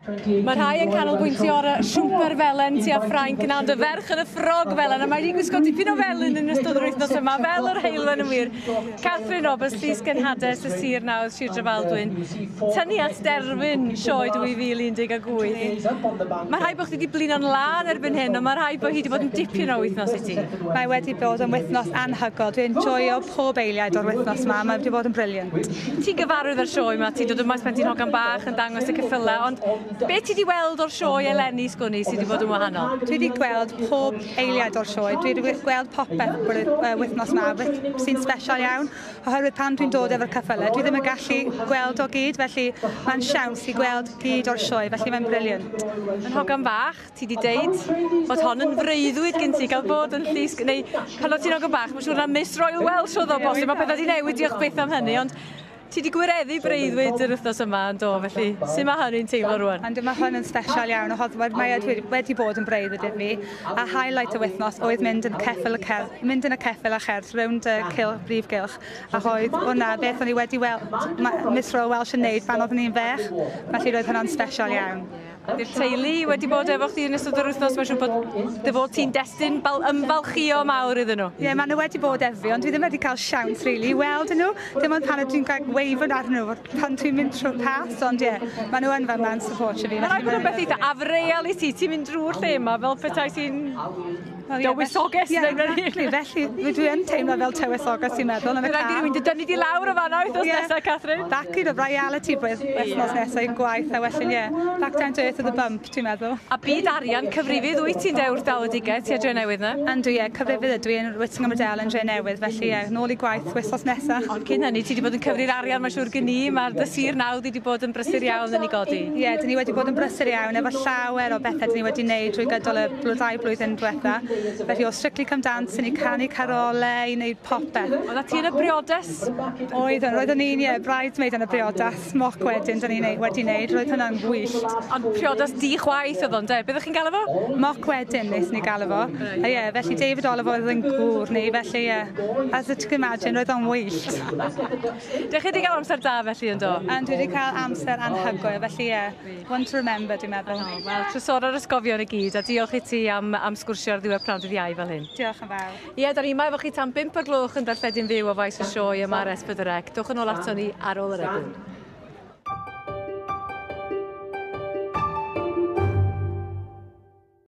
Mae rhai yn canolbwyntio ar y siwmper felen tua Ffrainc na, ond y ferch yn y ffrog felen, a mae wedi gwisgo dipyn o felyn yn ystod yr wythnos yma, fel yr heulwen yn wir. Catherine Roberts, Llys Genhades y Sir Nawdd, Sir Drefaldwyn. Tynnu at derfyn sioe 2018. Mae rhaid bod chdi wedi blino'n lân erbyn hyn, ond mae rhaid bod hi wedi bod yn dipyn o wythnos i ti. Mae wedi bod yn wythnos anhygoel. Dwi'n enjoyo pob eiliad o'r wythnos yma. Mae wedi bod yn brilliant. Ti'n gyfarwydd â'r sioe yma, ti'n dod yma ers pan ti'n hogan bach yn dangos y ceffylau, ond be ti wedi weld o'r sioe eleni, sgwn i, sydd wedi bod yn wahanol? Dwi wedi gweld pob eiliad o'r sioe. Dwi wedi gweld popeth wythnos yma sy'n special iawn. Oherwydd pan dwi'n dod efo'r ceffylau, dwi ddim yn gallu gweld o gyd, felly mae'n siawns i gweld gyd o'r sioe, felly mae'n brilliant. Yn hogan bach, ti wedi deud bod hon yn freuddwyd gen ti gael bod yn llys, neu pan o't ti'n hogan bach, mae'n siŵr na Miss Royal Welsh oedd o bosib, mae pethau wedi newid, diolch byth am hynny, ond ti wedi gwireddu breuddwyd yr wythnos yma yn do, felly sut mae hynny'n teimlo rwan? Ond mae hwn yn special iawn, oherwydd mae e wedi bod yn breuddwyd i fi, a highlight y wythnos oedd mynd yn ceffyl y cerdd, mynd yn y ceffyl a cherdd rownd y cil, brif gylch, a oedd hwnna beth o'n i wedi weld Miss Royal Welsh yn neud pan oeddwn i'n fech, felly roedd hwnna'n special iawn. Ydy'r teulu wedi bod efo chdi yn ystod yr wythnos? Mae'n siŵr bod dy fod ti'n destun ymfalchïo mawr iddyn nhw. Ie, yeah, maen nhw wedi bod efo fi, ond dwi ddim wedi cael siawns really, i weld nhw. Dim ond pan ydw i'n cael wave arnyn nhw pan dwi'n mynd trwy'r pas, ond ie, yeah, maen nhw yn fan'na yn supportio fi. Mae'n rhaid bod yn beth eitha afreal i ti, ti'n mynd drwy'r lle yma fel petai ti'n dywysoges neu exactly, felly dwi yn teimlo fel tywysoges ti'n meddwl yn y car. Rhaid i rywun dy dynnu di lawr o fan'na wythnos nesaf, Catherine. Back i the reality wythnos nesaf i'n gwaith a wedyn, ie, back down to earth with a bump, ti'n meddwl. A byd arian, cyfrifydd wyt ti'n dewr dalwedigaeth ti a Drenewydd na? Yndw, ie, cyfrifydd ydw i yn Whittingham Riddell yn Drenewydd, felly ie, nôl i gwaith wythnos nesaf. Ond cyn hynny, ti wedi bod yn cyfri'r arian, mae'n siŵr gen i, mae'r dy sir nawdd wedi bod yn brysur iawn yn ei godi. Ie, dyn ni wedi bod yn brysur iawn efo llawer o bethau dyn ni wedi wneud drwy gydol y 2 blwyddyn diwetha. Felly o Strictly Come Dancing i canu carolau i wneud popeth. Oeddet ti yn y briodas? Oeddwn, roeddwn i'n, ie, bridesmaid yn y briodas, mock wedding dyn ni'n wedi wneud, roedd hwnna'n gwyllt. Ond priodas di chwaith oedd o'n de, beth ydych chi'n galw fo? Mock wedding nes ni galw fo. A ie, felly David Oliver oedd yn gŵr ni, felly ie, as you can imagine, roedd o'n wyllt. Dych chi wedi cael amser da felly yn do? And dwi wedi cael amser anhygoel, felly ie, one to remember dwi'n meddwl. Oh, wel, trysor ar ysgofion i gyd, a diolch i ti am sgwrsio ar ddiwedd pnawn dydd Iau fel hyn. Diolch yn fawr. Ie, da ni yma efo chi tan 5 o'r gloch yn darlledu'n fyw o faes y sioe yma ar S4C. Dowch yn ôl ato ni ar ôl yr egwyl.